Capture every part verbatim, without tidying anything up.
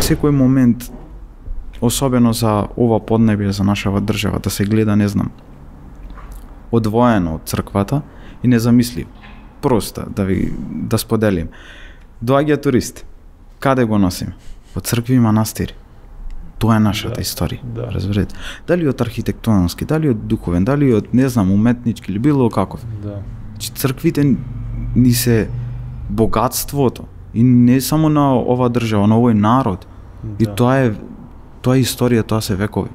секој момент, особено за ова поднебје, за нашава држава, да се гледа, не знам, одвоено од црквата и незамисливо. Просто да ви да споделим. Доаѓа турист. Каде го носиме? Во цркви и манастири. Тоа е нашата Да, историја. да. Разберете. Дали од архитектонски, дали од духовен, дали од не знам уметнички или било каков. Да. Значи, црквите ни се богатството и не само на ова држава, на овој народ. И Да. тоа е тоа е историја, тоа се векови.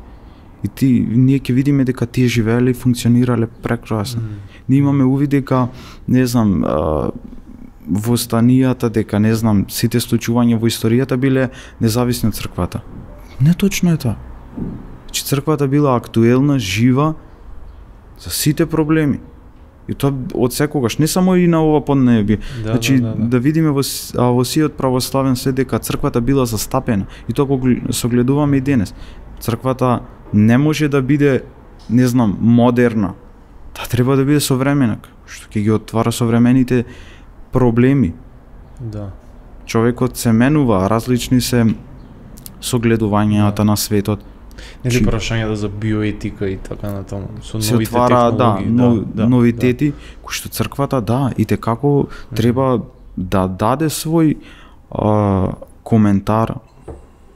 И ти ние ќе видиме дека тие живееле и функционирале прекрасно. М. Ние имаме увид дека не знам а, во станијата дека не знам сите случувања во историјата биле независни од црквата. Не точно е тоа. Че црквата била актуелна, жива за сите проблеми. И тоа од секогаш, не само и на ова поднебје. Да, Значи да, да, да. да видиме во с- а, во сиот православен свет дека црквата била застапена и тоа го гл- согледуваме и денес. Црквата не може да биде, не знам, модерна. Таа треба да биде современа, што ќе ги отвара современите проблеми. Да. Човекот се менува, различни се согледувањата Да. на светот. Нели Чи- прашањата за биоетика и така натаму, со Се новите отвара, да, технологии, нов, да, новитети, кои што црквата, да, и те како треба да даде свој а, коментар,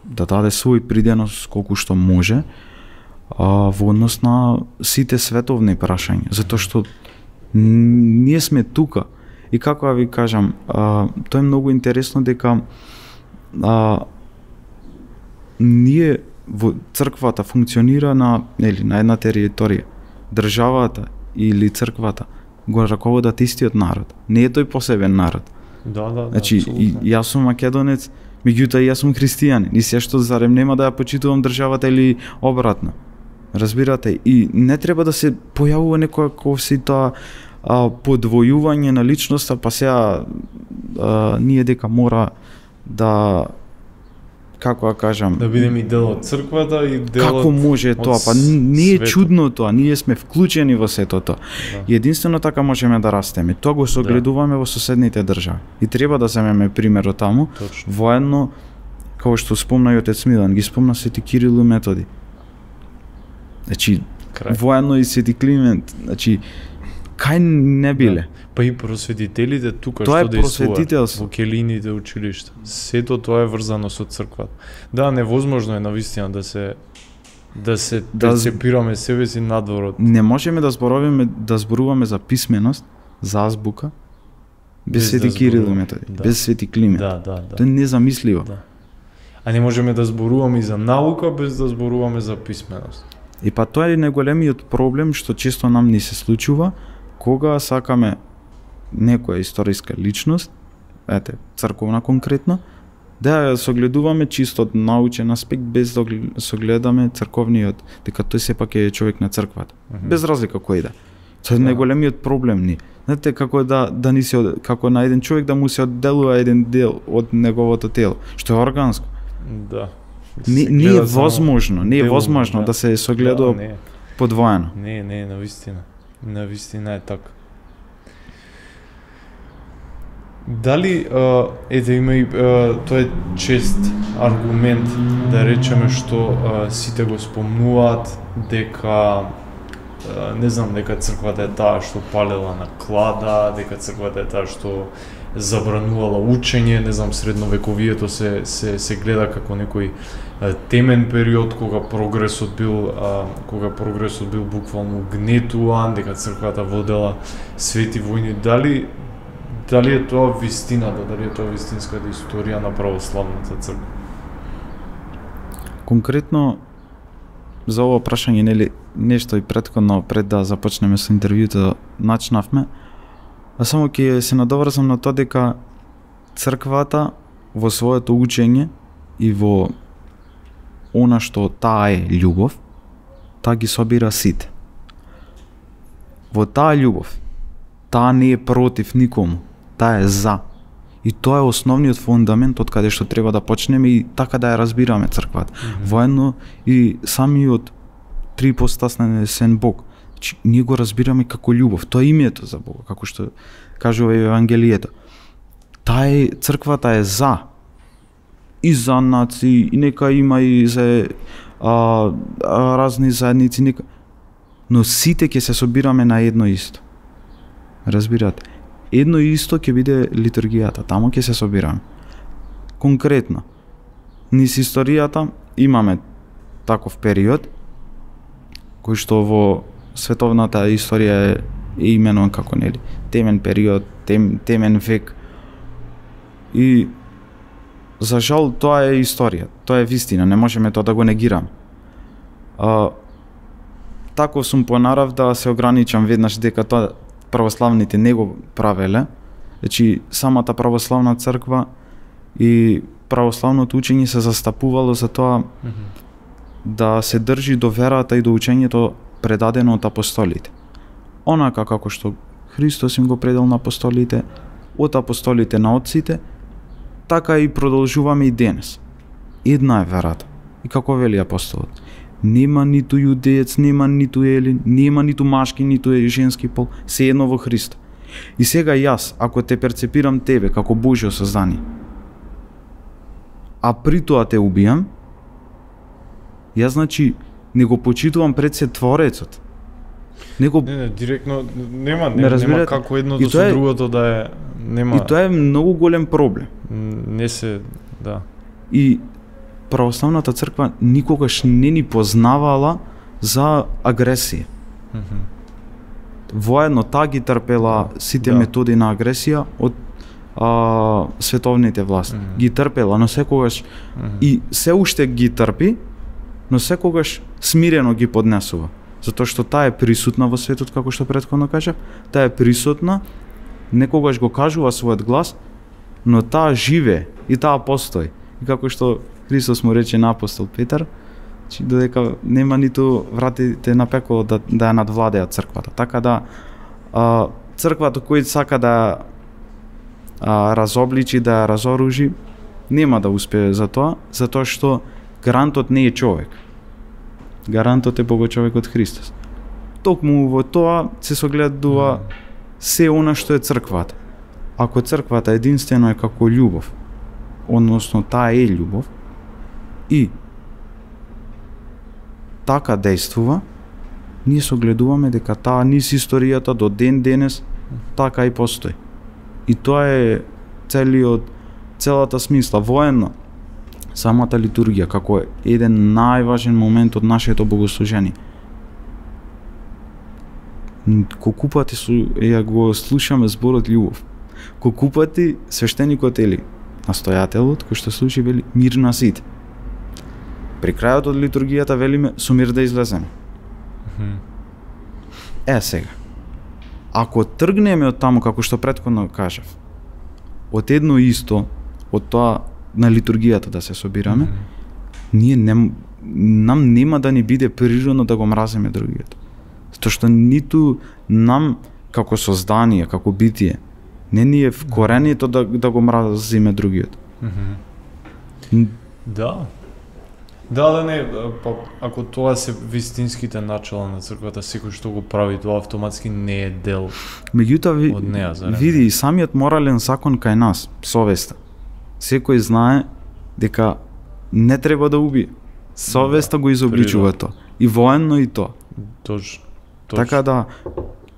да даде свој приденос колку што може а, во однос на сите световни прашања, затоа што н- ние сме тука. И како да ви кажам, а, тоа е многу интересно дека а, ние во црквата функционира на нели на една територија. Државата или црквата го раководат истиот народ. Не е тој посебен народ. Да, да, да, Значи, и, апсолутно. јас сум македонец, меѓутоа јас сум христијанин. И се што зарем нема да ја почитувам државата или обратно. Разбирате? И не треба да се појавува некоја кој си тоа а, подвојување на личноста, па сега а, ние дека мора да како да кажам, Да бидеме и дел од црквата и дел како од... може од тоа? Па не е светот. чудно тоа, ние сме вклучени во сето тоа. Да. И единствено така можеме да растеме. Тоа го согледуваме во соседните држави. И треба да земеме пример од таму. Точно. Воедно, како што спомна и отец Милан, ги спомна Свети Кирил и Методи. Значи, Крај. воедно и Свети Климент, значи, кај не биле? Па и просветителите тука Тоа е што действуваат просветителство. во келините училишта. Сето тоа е врзано со црквата. Да, невозможно е навистина да се да се Да з- перцепираме себе си надвор од Не можеме да зборовиме, да зборуваме за писменост, за азбука, без, Без Свети да Кирил и зборуваме, Методи, да. без Свети Климент. Да, да, да. Тоа е незамисливо. Да. А не можеме да зборуваме и за наука без да зборуваме за писменост. И па тоа е најголемиот проблем што често нам ни се случува кога сакаме некоја историска личност, ете, црковна конкретно, да ја согледуваме чисто од научен аспект без да огл- согледаме црковниот, дека тој сепак е човек на црквата. Мгм. Без разлика кој да. Тоа е Да. најголемиот проблем ни. Знаете како да да ни се од- како на еден човек да му се одделува еден дел од неговото тело, што е органско. Да. Не, Се не е гледа само возможно, не е делово, возможно да се согледува Да, не, подвоено. не, не, навистина. Навистина е така. Дали, а, ете, има и, а, тоа е чест аргумент, да речеме, што а, сите го спомнуваат дека, а, не знам, дека црквата е таа што палела на клада, дека црквата е таа што забранувала учење, не знам, средновековието се, се, се гледа како некој а, темен период кога прогресот бил а, кога прогресот бил буквално гнетуван, дека црквата водела свети војни. Дали дали е тоа вистината, дали е тоа вистинската историја на православната црква? Конкретно за ова прашање, нели, нешто и претходно пред да започнеме со интервјуто начнавме, а само ќе се надоврзам на тоа дека црквата во своето учење и во она што таа е љубов, таа ги собира сите. Во таа љубов, таа не е против никому, таа е за. И тоа е основниот фундамент од каде што треба да почнеме и така да ја разбираме црквата. Мгм. Воедно и самиот трипостасен Бог. Значи, ние го разбираме како љубов. Тоа е името за Бога, како што кажува и Евангелието. Таа е, црквата е за. и за нации, и нека има и за а, а, разни заедници, нека... но сите ќе се собираме на едно исто. Разбирате? Едно исто ќе биде литургијата, таму ќе се собираме. Конкретно, низ историјата имаме таков период, кој што во световната историја е, е именуван како нели темен период, тем, темен век. И за жал тоа е историја, тоа е вистина, не можеме тоа да го негираме. А, таков сум по нарав да се ограничам веднаш дека тоа православните не го правеле. Значи самата православна црква и православното учење се застапувало за тоа mm-hmm. да се држи до верата и до учењето предадено од апостолите. Онака како што Христос им го предал на апостолите, од апостолите на отците, така и продолжуваме и денес. Една е верата. И како вели апостолот, нема ниту јудеец, нема ниту елин, нема ниту машки, ниту женски пол, се едно во Христа. И сега јас, ако те перцепирам тебе како Божјо создание, а при тоа те убијам, јас значи не го почитувам пред се Творецот. Не го... Не, не, директно нема, не, нема како едното со е, другото да е, нема. И тоа е многу голем проблем. Не се, да. И православната црква никогаш не ни познавала за агресија. Mm-hmm. Воедно таа ги трпела сите да. методи на агресија од а, световните власти. Mm-hmm. Ги трпела, но секогаш mm-hmm. и се уште ги трпи, но секогаш смирено ги поднесува. Затоа што таа е присутна во светот, како што претходно кажав, таа е присутна, некогаш го кажува својот глас, но таа живе и таа постои. И како што Христос му рече на апостол Петар, че додека нема ниту вратите на пеколот да, да ја надвладеат црквата. Така да а, црквата кој сака да а, разобличи, да ја разоружи, нема да успее за тоа, затоа што гарантот не е човек. Гарантот е Богочовекот Христос. Токму во тоа се согледува се она што е црквата. Ако црквата единствено е како љубов, односно таа е љубов, и така дејствува, ние согледуваме дека таа низ историјата до ден денес така и постои. И тоа е целиот, целата смисла. Воедно, самата литургија како еден најважен момент од нашето богослужение. Колку пати ја го слушаме зборот љубов. Колку пати свештеникот или настојателот кој што служи вели мир на сите. При крајот од литургијата велиме со мир да излеземе. Mm-hmm. Е сега, ако тргнеме од таму како што претходно кажав, од едно исто, од тоа на литургијата да се собираме, mm-hmm. ние не, нам нема да ни биде природно да го мразиме другиот. Затоа што ниту нам како создание, како битие, не ни е вкорението да, да го мразиме другиот. Mm-hmm. Да. Да, да не, па, ако тоа се вистинските начала на црквата, секој што го прави тоа автоматски не е дел Меѓутоа, ви, од неа. види и самиот морален закон кај нас, совеста. Секој знае дека не треба да убие. Совеста да, го изобличува тоа. И военно и тоа. Точно. Така да,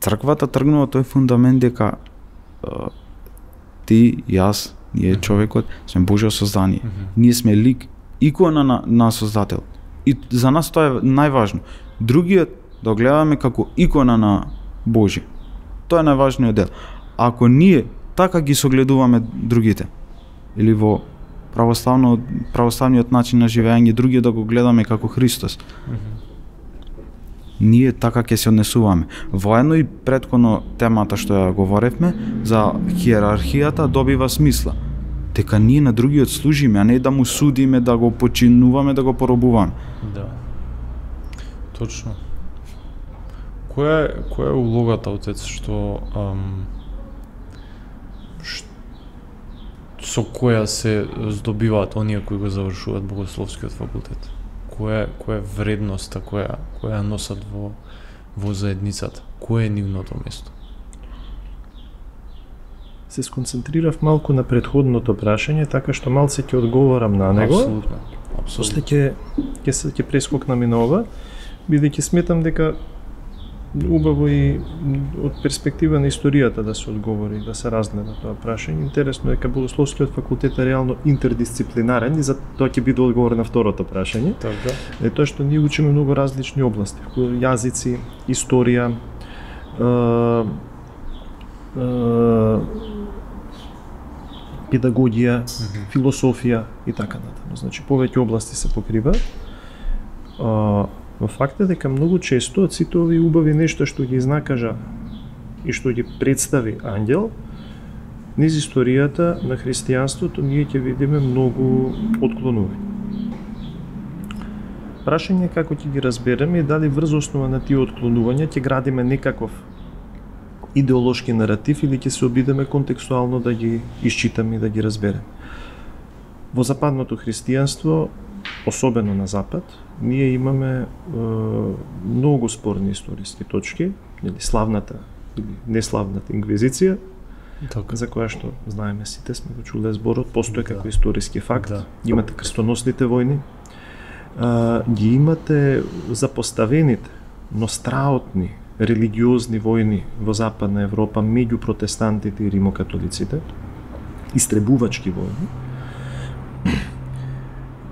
црквата тргнува тој фундамент дека uh, ти, јас, ние mm-hmm. човекот, сме Божјо создание. Mm-hmm. Ние сме лик, икона на, на Создател. И за нас тоа е најважно. Другиот да гледаме како икона на Божје. Тоа е најважниот дел. Ако ние така ги согледуваме другите, или во православно, православниот начин на живење, другиот да го гледаме како Христос, mm-hmm. ние така ќе се однесуваме. Воедно и претходно темата што ја говоревме за хиерархијата добива смисла. Дека ние на другиот служиме, а не да му судиме, да го починуваме, да го поробуваме. Да. Точно. Која е, која е улогата, отец, што, ам, ш, со која се здобиваат оние кои го завршуваат богословскиот факултет? Која која е вредноста која која носат во во заедницата? Кое е нивното место? се сконцентрирав малку на претходното прашање, така што малце ќе одговорам на него. Апсолутно. Апсолутно. После ќе ќе се ќе прескокнам и на ова, бидејќи сметам дека убаво и од перспектива на историјата да се одговори, да се разгледа тоа прашање. Интересно е дека Богословскиот факултет е реално интердисциплинарен и за тоа ќе биде одговор на второто прашање. Така. Е тоа што ние учиме многу различни области, јазици, историја, е, е, педагогија, Мгм. философија и така натаму. Значи повеќе области се покрива. А, но факт е дека многу често од сите овие убави нешта што ги изнакажа и што ги представи ангел, низ историјата на христијанството ние ќе видиме многу отклонувања. Прашање е како ќе ги разбереме и дали врз основа на тие отклонувања ќе градиме некаков идеолошки наратив или ќе се обидеме контекстуално да ги исчитаме и да ги разбереме. Во западното христијанство, особено на запад, ние имаме е, многу спорни историски точки, или славната или неславната инквизиција, Така. за која што знаеме сите, сме го чуле зборот, постои Да. како историски факт. Да. Имате крстоносните војни, а, ги имате запоставените, но страотни религиозни војни во Западна Европа меѓу протестантите и римокатолиците, истребувачки војни.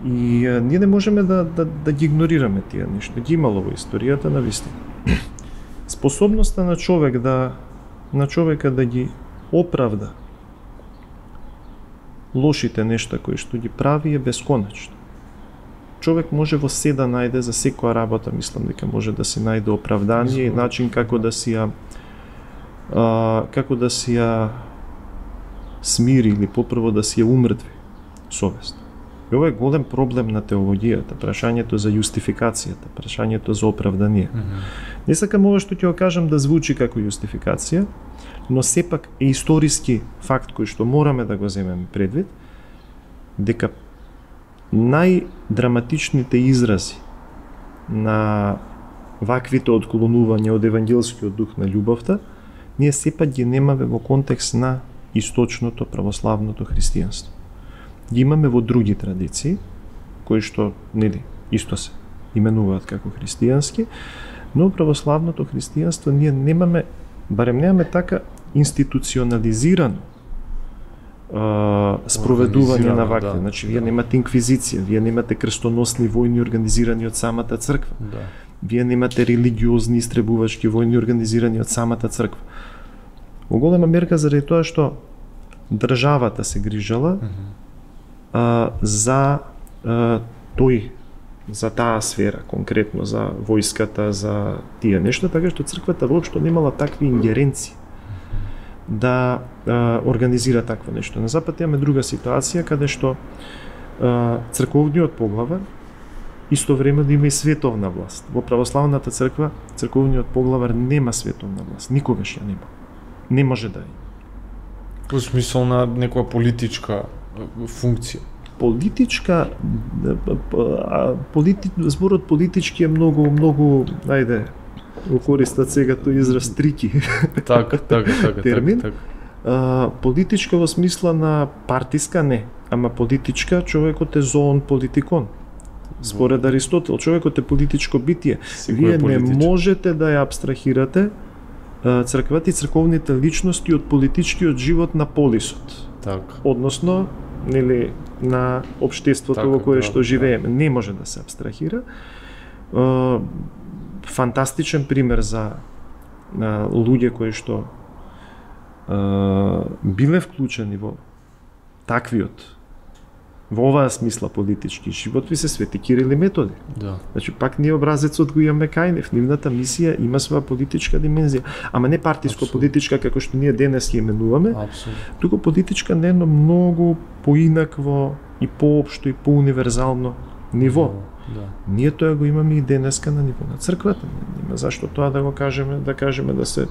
И а, ние не можеме да, да, да ги игнорираме тие нешто. Ги имало во историјата на вистина. Способноста на човек да на човека да ги оправда лошите нешта кои што ги прави е бесконечно. Човек може во се да најде за секоја работа, мислам дека може да си најде оправдание и начин како да си ја а, како да си ја смири или попрво да си ја умртви совест. И ова е голем проблем на теологијата, прашањето за јустификацијата, прашањето за оправдание. Мгм. Не сакам ова што ќе го кажам да звучи како јустификација, но сепак е историски факт кој што мораме да го земеме предвид, дека најдраматичните изрази на ваквите отклонувања од евангелскиот дух на љубовта, ние сепак ги немаме во контекст на источното православното христијанство. Ги имаме во други традиции, кои што нели исто се именуваат како христијански, но православното христијанство ние немаме, барем немаме така институционализирано а, спроведување на вакви. да, Значи, вие да. немате инквизиција, вие немате крстоносни војни организирани од самата црква. Да. Вие немате религиозни истребувачки војни организирани од самата црква. Во голема мерка заради тоа што државата се грижала Мгм. а, за а, тој, за таа сфера, конкретно за војската, за тие нешта, така што црквата воопшто немала такви ингеренции да а, организира такво нешто. На запад имаме друга ситуација каде што а, црковниот поглавар исто време да има и световна власт. Во православната црква црковниот поглавар нема световна власт, никогаш ја нема. Не може да ја има. Во смисол на некоја политичка е, функција. Политичка а, полити, зборот политички е многу многу ајде го користат сега тој израз трики. Така, така, така, Термин? така, така. А, политичка во смисла на партиска не, ама политичка човекот е зоон политикон. Според Аристотел, човекот е политичко битие. Секој Вие е не политичен. можете да ја абстрахирате а, црквата и црковните личности од политичкиот живот на полисот. Така. Односно, нели, на општеството Така, во кое да, што да. живееме. Не може да се абстрахира. А, фантастичен пример за а, луѓе кои што а, биле вклучени во таквиот, во оваа смисла политички живот, ви се Свети Кирил и Методи. Да. Значи, пак ние образецот го имаме кај нив. Нивната мисија има своја политичка димензија, ама не партиско-политичка како што ние денес ја именуваме, Апсолутно. туку политичка на едно многу поинакво и поопшто и поуниверзално ниво. Да. Ние тоа го имаме и денеска на ниво на црквата. Нема зашто тоа да го кажеме, да кажеме да се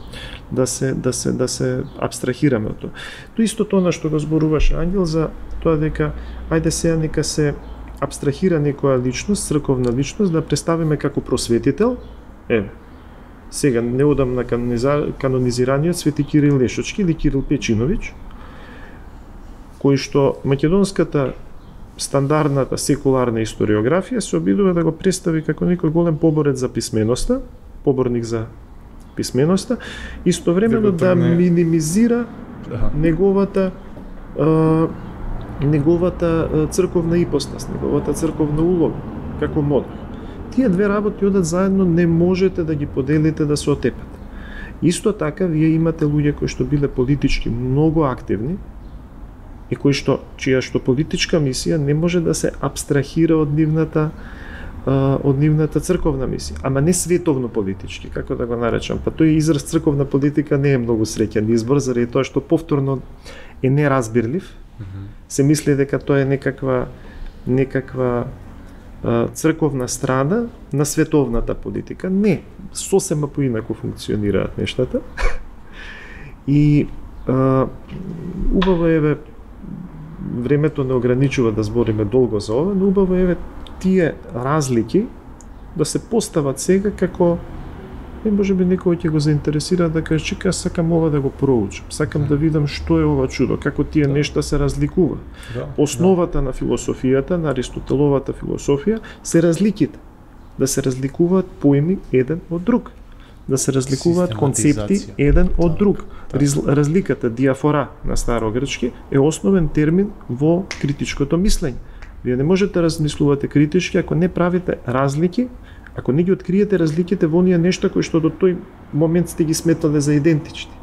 да се да се да се абстрахираме од тоа. Тоа исто тоа на што го зборуваше Ангел за тоа дека ајде сега нека се абстрахира некоја личност, црковна личност да представиме како просветител. Еве. Сега неодамна канонизираниот Свети Кирил Лешочки или Кирил Печиновиќ, кои што македонската стандардната секуларна историографија се обидува да го представи како некој голем поборец за писменоста, поборник за писменоста, истовремено да, да минимизира да. неговата а, неговата црковна ипостас, неговата црковна улога како монах. Тие две работи одат заедно, не можете да ги поделите да се отепат. Исто така, вие имате луѓе кои што биле политички многу активни и кои што, чија што политичка мисија не може да се абстрахира од нивната од нивната црковна мисија, ама не световно политички, како да го наречам. Па тој израз црковна политика не е многу среќен избор, заради тоа што повторно е неразбирлив. Mm-hmm. Се мисли дека тоа е некаква некаква а, црковна страна на световната политика. Не, сосема поинаку функционираат нештата. И а, убаво еве, времето не ограничува да збориме долго за ова, но убаво еве тие разлики да се постават сега како и може би некој ќе го заинтересира да каже, чека, сакам ова да го проучам, сакам да видам што е ова чудо, како тие нешта се разликува. Да, Основата да. на философијата, на Аристотеловата философија, се разликите. Да се разликуваат поими еден од друг. Да се разликуваат концепти еден од да, друг. Да. Разликата, диафора на старогрчки, е основен термин во критичкото мислење. Вие не можете да размислувате критички ако не правите разлики, ако не ги откриете разликите во оние нешта кои што до тој момент сте ги сметале за идентични.